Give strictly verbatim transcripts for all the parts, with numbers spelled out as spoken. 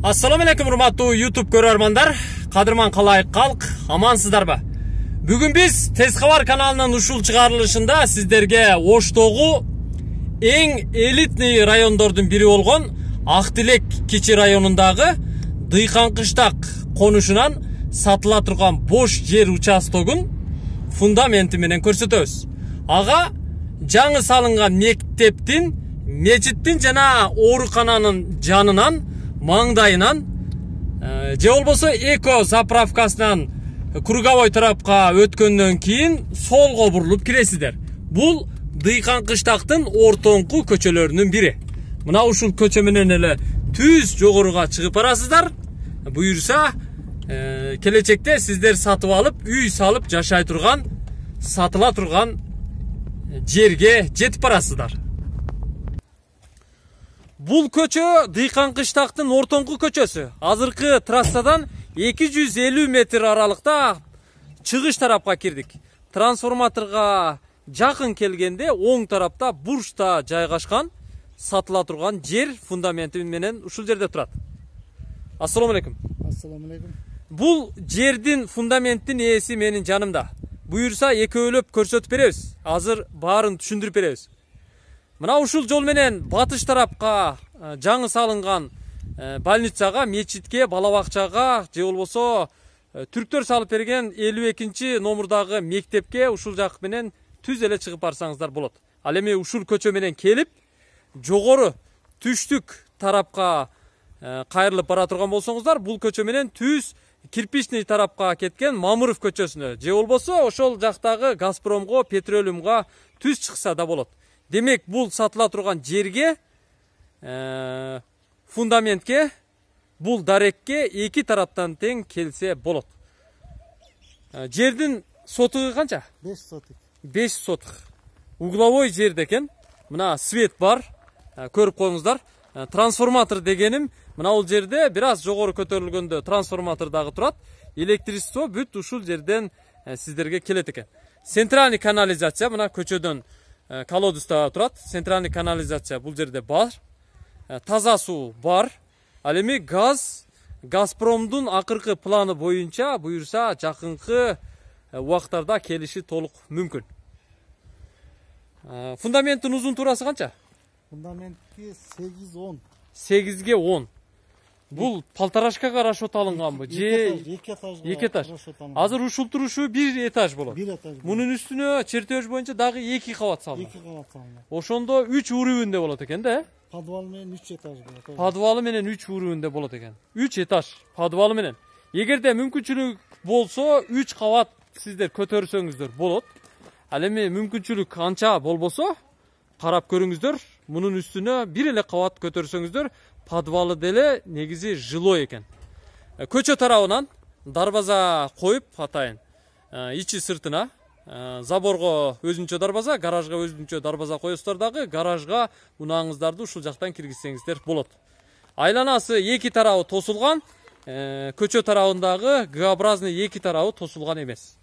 Assalamu alaikum урматтуу YouTube көрөрмандар, кадырман калай калк, амансыздарбы? Бүгүн биз Тез кабар каналынын ушул чыгарылышында сиздерге Оштогу эң элитный райондордун бири болгон Актилек кичи районундагы Дыйканкыштак конушунан сатыла турган бош жер участогун фундаменти менен көрсөтөбүз. Ага жаңы салынган мектептин, мечиттин жана оорукананын жанынан, маңдайынан, же болбосо эко заправкасынан круговой тарапка өткөндөн кийин солго бурулуп киресиздер. Бул Дыйканкыштактын ортоңку көчөлөрүнүн бири. Мына ушул көчө менен эле түз жогоруга чыгып барасыздар. Буюрса, э, келечекте сиздер сатып алып, үй салып жашай турган, сатыла турган жерге жетип барасыздар. Бул көчө Дыйканкыштактын ортоңку көчөсү. Азыркы трассадан эки жүз элүү метр аралыкта чыгыш тарапка кирдик. Трансформаторго жакын келгенде оң тарапта бурчта жайгашкан сатыла турган жер фундаменти менен ушул жерде турат. Ассаламу алейкум. Ассаламу алейкум. Бул жердин фундаменттин ээси менин жанымда. Буюрса экөөлөп көрсөтүп беребиз. Азыр баарын түшүндүрүп беребиз. Мына ушул жол менен батыш тарапка жаңы салынган больницага, мечитке, бала бакчага, же болбосо түрктөр салып берген элүү экинчи номурдагы мектепке ушул жак менен түз эле чыгып барсаңыздар болот. Ал эми ушул көчө менен келип, жогору түштүк тарапка кайрылып бара турган болсоңуздар, бул көчө менен түз кирпичный тарапка кеткен Мамыров көчөсүнө, же болбосо ошол жактагы Газпромго, Петролиумга түз чыкса да болот. Демек, бул сатыла турган жерге, э, фундаментке, бул дарекке эки тараптан тең келсе болот. Э, жердин сотугу канча? беш сотук. беш сотук. Угловой жерде экен. Мына свет бар. Э, көрүп коюңуздар. Э, трансформатор дегеним, мына бул жерде бир аз жогору көтөрүлгөндө трансформатор дагы турат. Электричество бүт ушул жерден э, сиздерге келет экен. Центральный канализация мына көчөдөн колодуста турат. Центральный канализация бул жерде бар. Таза суу бар. Ал эми газ, Газпромдун акыркы планы боюнча буюрса жакынкы убактарда келиши толук мүмкүн. Фундаменттин узун туурасы канча? Фундаментки сегиз он. сегизге он. Бул полторашкага расчет алынганбы? Же эки этажга. эки этаж. Азыр ушул турушу бир этаж болот. бир этаж. Мунун үстүнө чертеж боюнча дагы эки кабат салынат. эки кабат салынат. Ошондо үч уровеньде болот экен да? Подвал менен үч этаж болот. Подвалы менен үч уровеньде болот экен. үч этаж подвалы менен. Эгерде мүмкүнчүлүк болсо үч кабат сиздер көтөрсөңүздөр болот. Ал эми мүмкүнчүлүк анча болбосо карап көрүңүздөр. Мунун үстүнө бир эле кабат көтөрсөңүздөр, подвалы деле негизи жилой экен. Көчө тарабынан дарбаза коюп атайын. Ичи сыртына заборго өзүнчө дарбаза, гаражга өзүнчө дарбаза коесуздар дагы, гаражга унааңыздарды ушул жактан киргизсеңиздер болот. Айланасы эки тарабы тосулган, көчө тарабындагы Г-образный эки тарабы тосулган эмес.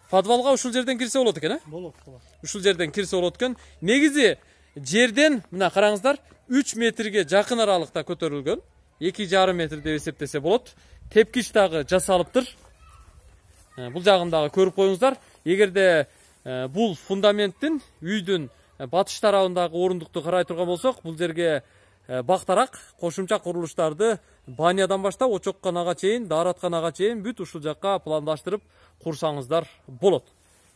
Подвалга ушул жерден кирсе болот экен, э? Болот, болот. Ушул жерден кирсе болот экен. Негизи жерден мына караңыздар, үч метрге жакын аралыкта көтөрүлгөн. эки жарым метр деп эсептесе болот. Тепкич дагы жасалыптыр. Бул жагын дагы көрүп коюңуздар. Эгерде бул фундаменттин үйдүн батыш тарабындагы орундукту карай турган болсок, бул жерге бактарак кошумча курулуштарды банядан баштап очокканага чейин, дааратканага чейин бүт ушул жакка пландаштырып курсаңыздар болот.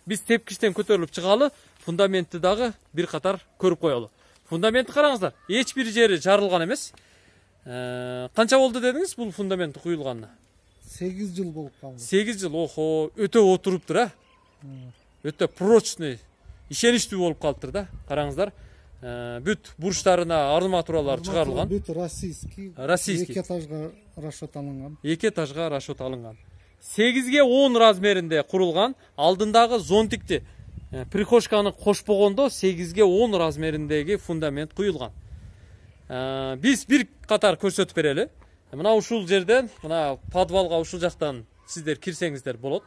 Биз тепкичтен көтөрүлүп чыгалы, фундаментти дагы бир катар көрүп коелу. Фундаментти караңыздар, эч бир жери жарылган эмес. Канча болду дедиңиз бул фундамент куюлганына? сегиз жыл болуп калды. сегиз жыл, охо, өтө отуруптур, а? Өтө прочный, ишеничтүү болуп калыптыр да. Караңыздар, бүт бурчтарына арматуралар чыгарылган. Бүт российский. Российский. эки этажга расчет алынган. эки этажга расчет алынган. сегизге он размеринде курулган, алдындагы зонтикти прихожканы кошпогондо сегизге он размериндеги фундамент куюлган. Биз бир катар көрсөтүп берели. Мына ушул жерден, мына подвалга ушул жактан сиздер кирсеңиздер болот.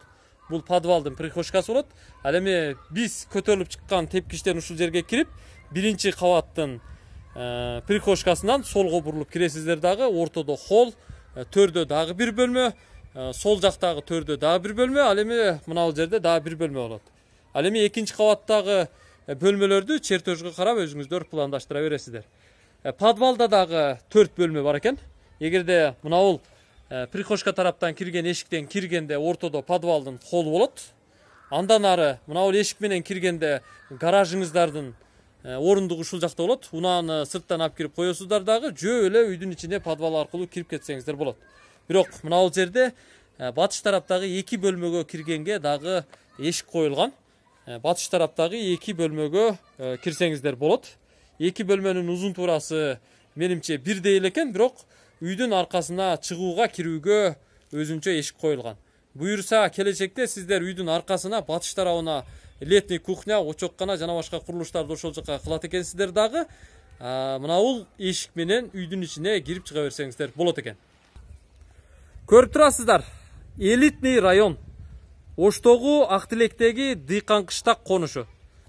Бул подвалдын прихожкасы болот. Ал эми биз көтөрүлүп чыккан тепкичтен ушул жерге кирип, биринчи кабаттын прихожкасынан солго бурулуп киресиздер дагы, ортодо холл, төрдө дагы бир бөлмө, сол жактагы төрдө дагы бир бөлмө, ал эми мына бул жерде дагы бир бөлмө болот. Ал эми экинчи кабаттагы бөлмөлөрдү чертежге карап өзүңүздөр пландаштыра бересиздер. Подвалда дагы төрт бөлмө бар экен. Эгерде мына бул прихожка тараптан кирген эшиктен киргенде ортодо подвалдын холу болот. Андан ары мына бул эшик менен киргенде гаражыңыздардын орундугу ушул жакта болот. Унааны сырттан алып кирип коесуздар дагы, жөө эле үйдүн ичине подвал аркылуу кирип кетсеңиздер болот. Бирок мына бул жерде батыш тараптагы эки бөлмөгө киргенге дагы эшик коюлган. Батыш тараптагы эки бөлмөгө кирсеңиздер болот. Эки бөлмөнүн узун туурасы менимче бирдей эле экен, бирок үйдүн аркасына чыгууга, кирүүгө өзүнчө эшик коюлган. Буюрса келечекте сиздер үйдүн аркасына батыш тарабына летний кухня, очоккана жана башка курулуштарды ошол жака кылат экенсиздер дагы, мына бул эшик менен үйдүн ичине кирип чыга берсеңиздер болот экен. Көрүп турасыздар, элитный район. Оштогу Ак Тилектеги Дыйкан кыштак конушу.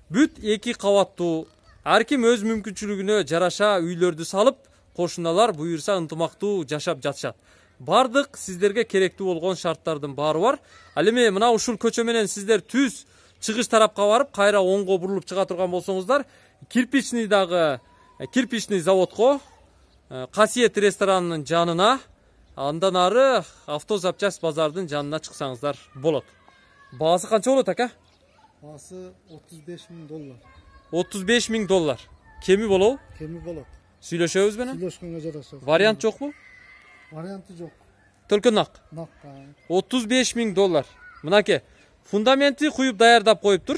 Бүт эки кабаттуу, ар ким өз мүмкүнчүлүгүнө жараша үйлөрдү салып, кошуналар буюрса ынтымактуу жашап жатышат. Бардык сиздерге керектүү болгон шарттардын баары бар. Ал эми мына ушул көчө менен сиздер түз чыгыш тарапка барып, кайра оңго бурулуп чыга турган болсоңуздар, кирпичный дагы кирпичный заводко, Касиет ресторанынын жанына, андан ары автозапчасть базардын жанына чыксаңыздар болот. Баасы канча болот ака? Баасы отуз беш миң доллар. отуз беш миң доллар. Кеми болобу? Кеми болот. Сүйлөшөбүз менен? Сүйлөшкөнгө жараша. Вариант жокпу? Варианты жок. Только нак. Нак. отуз беш миң доллар. Мынаке, фундаменти куюп даярдап коюптур.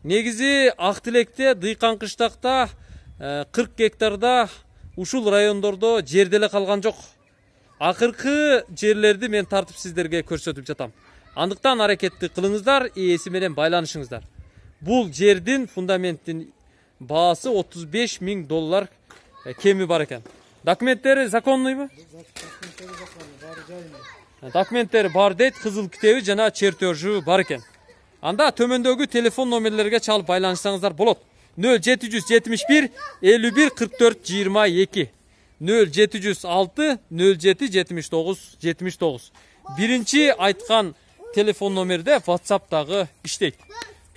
Негизи Ак Тилекте, Дыйкан кыштакта кырк гектарда ушул райондордо жер деле калган жок. Акыркы жерлерди мен тартып сиздерге көрсөтүп жатам. Андыктан аракетти кылыңыздар, ээси менен байланышыңыздар. Бул жердин фундаменттин баасы отуз беш миң доллар кеми бар экен. Документтери законныйбы? Документтери бар дейт, кызыл китеби жана чертежи бар экен. Анда төмөндөгү телефон номерлерге чалып байланышсаңыздар болот. нөл жети жүз жетимиш бир элүү бир кырк төрт жыйырма эки, нөл жети жүз алты нөл жети жетимиш тогуз жетимиш тогуз. Биринчи айткан телефон номерде WhatsApp дагы иштейт.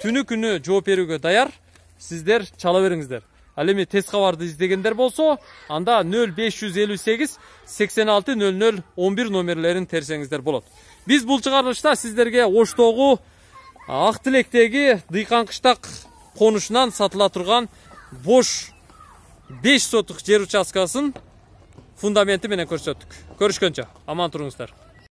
Түнү күнү жооп берүүгө даяр, сиздер чала бериңиздер. Ал эми тез кабарды издегендер болсо, анда нөл беш жүз элүү сегиз сексен алты нөл нөл он бир номерлерин терсеңиздер болот. Биз бул чыгарылышта сиздерге Оштогу Ак Тилектеги Дыйкан кыштак конушунан сатыла турган бош беш сотук жер участкасын фундаменти менен көрсөттүк. Көрүшкөнчө аман туруңуздар.